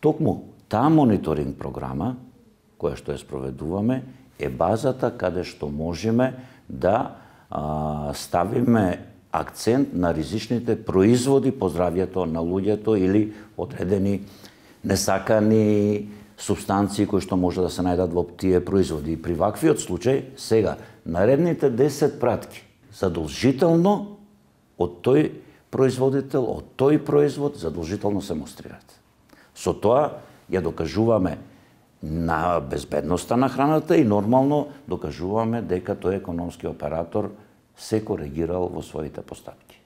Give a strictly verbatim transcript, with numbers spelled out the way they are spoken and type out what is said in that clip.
Токму таа мониторинг програма, која што ја спроведуваме, е базата каде што можеме да а, ставиме акцент на ризичните производи по здравјето на луѓето или одредени несакани субстанции кои што може да се најдат во тие производи. И при ваквиот случај, сега, наредните десет пратки, задолжително од тој производител, од тој производ, задолжително се мострираат. Со тоа ја докажуваме на безбедноста на храната и нормално докажуваме дека тој економски оператор се коригирал во своите постапки.